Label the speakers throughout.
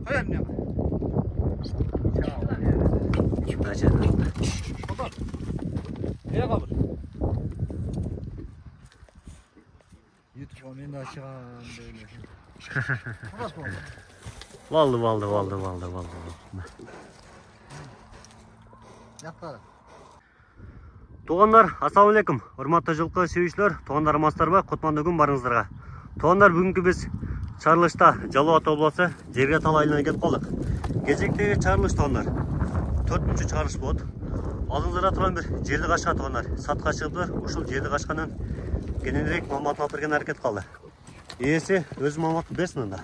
Speaker 1: Koyar mı? Otur. Nereye kalır? YouTube'a beni aşağı böyle. Burası mı?
Speaker 2: Valdı.
Speaker 1: Yattara.
Speaker 2: Туугандар, ассаламу алейкум. Урматтуу жылкы сүйүүчүлөр, туугандар амансыздарбы? Кутмандуу күн барыңыздарга. Туугандар, бүгүнкү биз чарылышта Жалал Абад обласу Жерге Тал айылына келип калдык. Кечектеги чарылыш туугандар. 4-чү чарылыш болот. Алдыңыздарда турган бир жерди качка туугандар. Сатка чыгыптыр. Ушул жерди качканын кененирээк маалыматын алып берген аракет кылды. Ээси өз маалыматын берсин анда.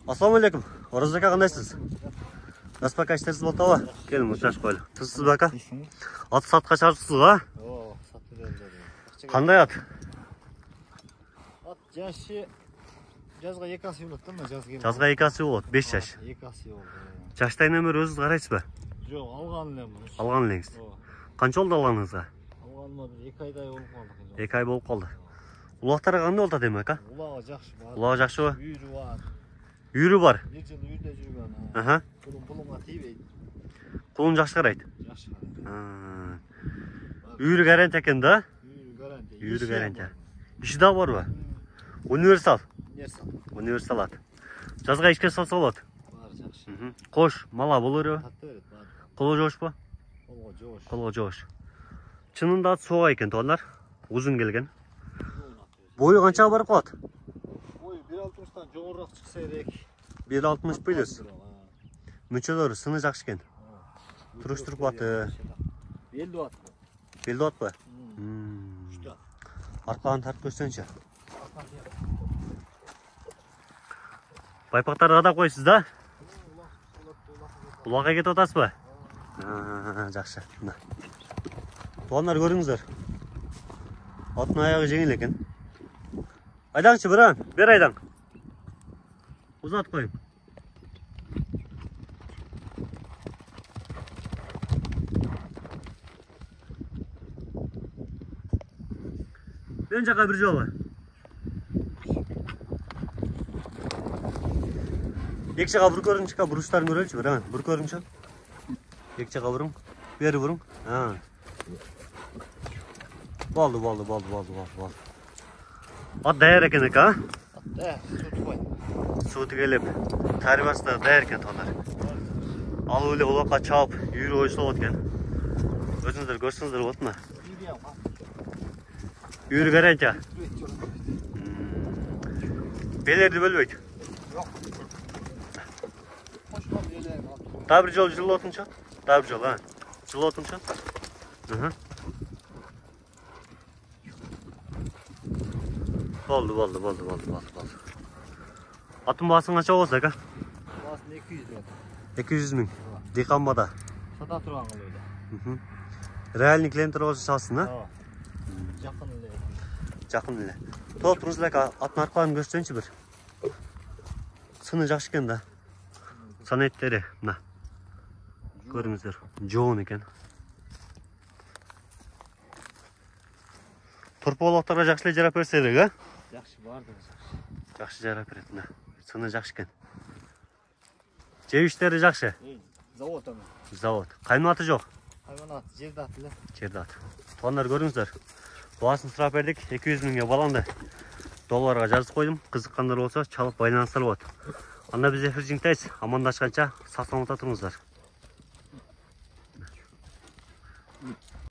Speaker 2: Ассаламу алейкум. Оразака кандайсыз? Аспака иштери болтабы? Келин учашып коелу. Тузсуз бака? Ат сатка чарыпсыз го?
Speaker 1: О, сатып берди.
Speaker 2: Кандай ат?
Speaker 1: Ат жашы жазга 2 асы болот да, жазга.
Speaker 2: Жазга 2 асы болот, 5 жаш.
Speaker 1: 2 асы болду.
Speaker 2: Жаштайынан бери өзүңүз карайсызбы?
Speaker 1: Жок, алган элем.
Speaker 2: Алган элеңиз. Канча болду алганыңызга?
Speaker 1: Алганыма 2 айдай болуп калды.
Speaker 2: 2 ай болуп калды. Улактары кандай болот демек, а?
Speaker 1: Улагы жакшы бар.
Speaker 2: Улагы жакшыбы?
Speaker 1: Үйрү бар.
Speaker 2: Үйрү бар.
Speaker 1: Bir жыл үйрүдө жүргөн.
Speaker 2: Аха.
Speaker 1: Пулуңа тийбейт.
Speaker 2: Кулун жакшы карайт.
Speaker 1: Жакшы.
Speaker 2: Үйрү гарант экен да?
Speaker 1: Үйрү гарант.
Speaker 2: Иши да барбы? Универсал.
Speaker 1: Универсал
Speaker 2: ат. Жазга ишке салса болот.
Speaker 1: Бар жакшы.
Speaker 2: Кош, мала боло береби?
Speaker 1: Тат берет, бар.
Speaker 2: Колго жошпу? Колго жош. Чынында ат сууга экен туугандар. Узун келген. Бою канчага барып калат?
Speaker 1: Бою 1.60-тан жогорураак чыкса керек.
Speaker 2: 1.60 плюс. Мүчөлөрү сыны жакшы экен. Туруштуруп аты.
Speaker 1: Белди ат.
Speaker 2: Белди атпы? Арканы тартып көрсөңчү. Байпактарды кадап койсуз да? Улакка кетип атасызбы? Жакшы. Туугандар көрүңүздөр. Аттын аягы жеңил экен. Айдаңчы биран, бер айдаң. Узат коюң. Мен жака бир жолу. Эки жака бур көрүңчү, буруштарын көрөлүчү, биран. Бур көрүңчү. Эки жака буруң, бери буруң. Болду. Ат даяр экен эки, а? Суу тигелеп, тарбасы да даяр экен туугандар. Алып эле улакка чаап, үйрү койсо болот экен. Өзүңүздөр көрсөңүздөр болот мына. Үйрү гарантия. Белерди бөлбөйт.
Speaker 1: Жок.
Speaker 2: Дагы бир жолу жылып отунчу. Дагы бир жолу, а? Жылып отунчу. Болду. Аттын баасын канча болсо ака?
Speaker 1: Баасын 200 миң.
Speaker 2: 200 миң. Декамбада.
Speaker 1: Сата турган кылыйда.
Speaker 2: Реальный клиенттер болсо чалсын, а? Жакын эле. Топ туруңуз эле аттын аркаларын көрсөңчү бир. Сыны жакшы экен да. Санеттери мына. Көрүңүздөр. Жоон экен. Турпологторго жакшы эле жарап берсе керек, а?
Speaker 1: Жакшы барды.
Speaker 2: Жакшы жарап берет мына. Сыны жакшы экен. Жебиштери жакшы.
Speaker 1: Завод аны.
Speaker 2: Завод. Кайматы жок.
Speaker 1: Хайванат, жерде ат эле.
Speaker 2: Жерде ат. Туугандар көрүңүздөр. Баасын сурап бердик. 200 миңге баланды. Долларга жазып койдум. Кызыккандар болсо чалып байланышсалар болот. Анда биз эфир жиңтайбыз. Амандашканча сак саламатта туруңуздар.